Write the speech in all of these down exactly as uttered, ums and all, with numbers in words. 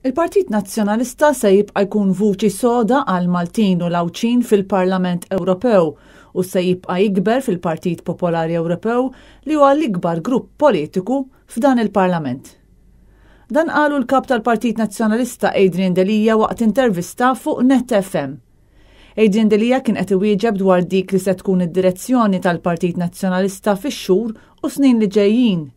Il-Partit Nazzjonalista se jibqa' jkun vuċi soda għal Maltin u l-Għawdxin fil-Parlament Ewropew u se jibqa' jikber fil-Partit Popolari Ewropew, li huwa l-ikbar grupp politiku f'dan il-Parlament. Dan qalu l-kap tal-Partit Nazzjonalista Adrian Delia waqt intervista fuq Net F M. Adrian Delia kien qed iwieġeb dwar dik li se tkun id-direzzjoni tal-Partit Nazzjonalista fix-xhur u snin li ġejjin.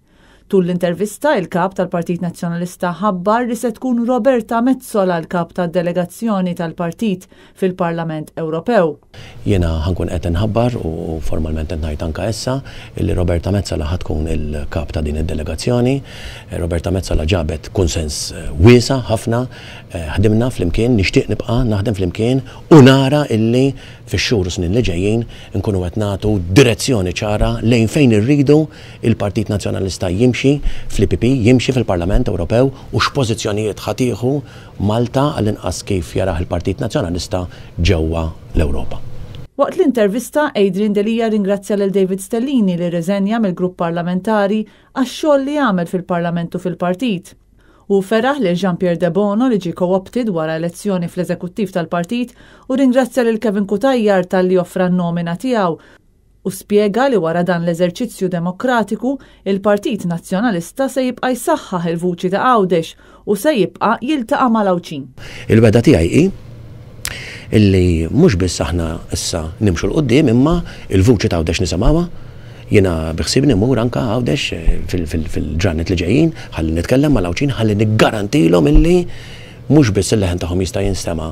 Tul l-intervista, il-kap tal-Partit Nazzjonalista ħabbar li se tkun Roberta Metsola l-kap tad-delegazzjoni tal-partit fil-Parlament Ewropew. Jiena ħa nkun qed nħabbar u formalment qed ngħid anke issa illi Roberta Metsola ħa tkun il-kap ta' din id-delegazzjoni. Roberta Metsola ġabet konsens wiesa' ħafna, ħdimna flimkien, nixtieq nibqa' naħdem flimkien u nara illi fix-xhur u snin li ġejjin nkunu qed nagħtu direzzjoni ċara lejn fejn irridu il-Partit Nazzjonalista jimxi fl-E P P, jimxi fil-Parlament Ewropew u x'pożizzjonijiet ħa tieħu Malta, għall-inqas kif jarah il-Partit Nazzjonalista, ġewwa l-Ewropa. Waqt l-intervista, Adrian Delia ringrazzja lil David Stellini, li rriżenja mill-grupp parlamentari, għax-xogħol li għamel fil-Parlament u fil-partit. U feraħ lil Jean-Pierre Debono, li ġie co-opted wara elezzjoni fl-eżekuttiv tal-partit, u ringrazzja lil Kevin Cutajar talli offra n-nomina tiegħu u spjega li wara dan l-eżerċizzju demokratiku il-Partit Nazzjonalista se jibqa' jsaħħaħ il-vuċi ta' Għawdex u se jibqa' jiltaqa' mal-Għawdxin. Il-wegħda tiegħi hi illi mhux biss aħna issa nimxu 'l quddiem, imma il-vuċi ta' Għawdex nisimgħuha. Jiena biħsiebni mmur anka Għawdex fil-ġranet li ġejjin ħalli nitkellem mal-Għawdxin, ħalli niggarantilhom illi mhux biss il-leħen tagħhom jista' jinstema'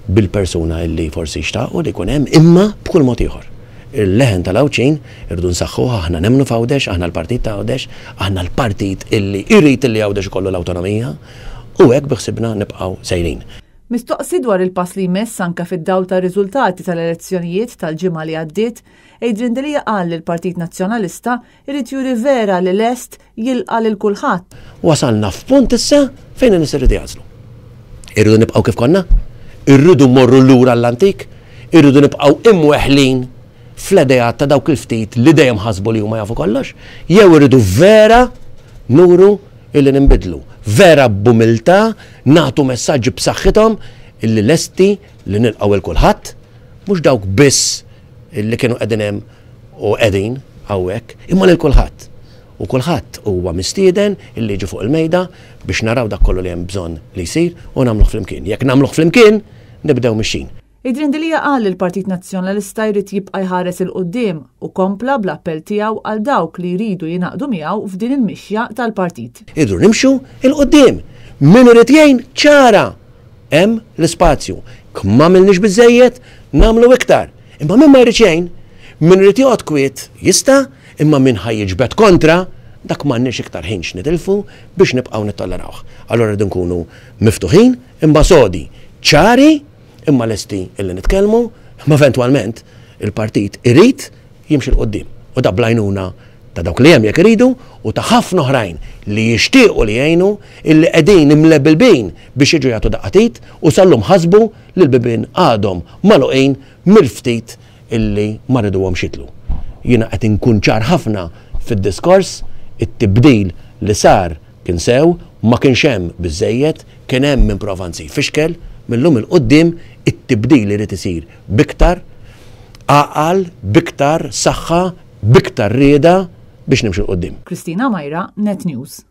bil-persuna illi forsi xtaqu li jkun hemm, imma b'kull mod ieħor. Il-leħen tal-Għawdxin irridu nsaħħuh. Aħna nemmnu f'Għawdex, aħna l-partit ta' Għawdex, aħna l-partit illi irrid illi Għawdex ikollu l-awtonomija u hekk biħsiebna nibqgħu sejrin. Mistoqsi dwar il-pass li jmiss anka fid-dawl ta' riżultati tal-elezzjonijiet tal-ġimgħa li għaddiet, Adrian Delia qal li l-Partit Nazzjonalista irid juri vera li lest jilqa' lil kulħadd. Wasalna f'punt issa fejn in-nies irridu jagħżlu. Irridu nibqgħu kif konna? Irridu mmorru lura l-antik? Irridu nibqgħu imweħlin fl-idea ta' dawk il-ftit li dejjem ħasbu li huma jafu kollox? Jew irridu vera nuru illi nimbidlu? Vera b'umiltà nagħtu messaġġi b'saħħithom illi lesti li nilqgħu 'l kulħadd, mhux dawk biss illi kienu qegħdin hemm u qegħdin hawnhekk, imma lil kulħadd. U kulħadd huwa mistieden illi jiġi fuq il-mejda biex naraw dak kollu li hemm bżonn li jsir u nagħmluh flimkien. Jekk nagħmluh flimkien, nibdew mixjin. Adrian Delia qal li l-Partit Nazzjonalista jrid jibqa' jħares 'il quddiem u kompla bl-appell tiegħu għal dawk li jridu jingħaqdu miegħu f'din il-mixja tal-partit. Irridu nimxu 'l quddiem. Min irid jgħin, ċara. Hemm l-ispazju. M'għamilniex biżejjed, nagħmlu iktar. Imma min ma jrid jgħin, min irid joqgħod kwiet jista', imma min ħa jiġbed kontra, dak m'għandniex iktar ħin x'nitilfu biex nibqgħu nittollerawh. Allora rridu nkunu miftuħin imma sodi, ċari imma lesti illi nitkellmu, imma eventwalment il-partit irid jimxi 'l quddiem. U da bl-għajnuna ta' dawk li hemm jekk iridu u ta' ħafna oħrajn li jixtiequ li jgħinu, illi qegħdin imlebilbin biex jiġu jagħtu daqqa t'id u sal-lum ħasbu li l-bibien għadhom magħluqin mill-ftit illi ma riduhomx jitilgħu. Jiena qed inkun ċar ħafna fid-diskors: it-tibdil li sar kien sew, ma kienx hemm biżejjed, kien hemm min prova jfixkel. Mil-lum 'il quddiem it-tibdil irid isir b'iktar għaqal, b'iktar saħħa, b'iktar rieda biex nimxu 'l quddiem. Kristina Majra, Net News.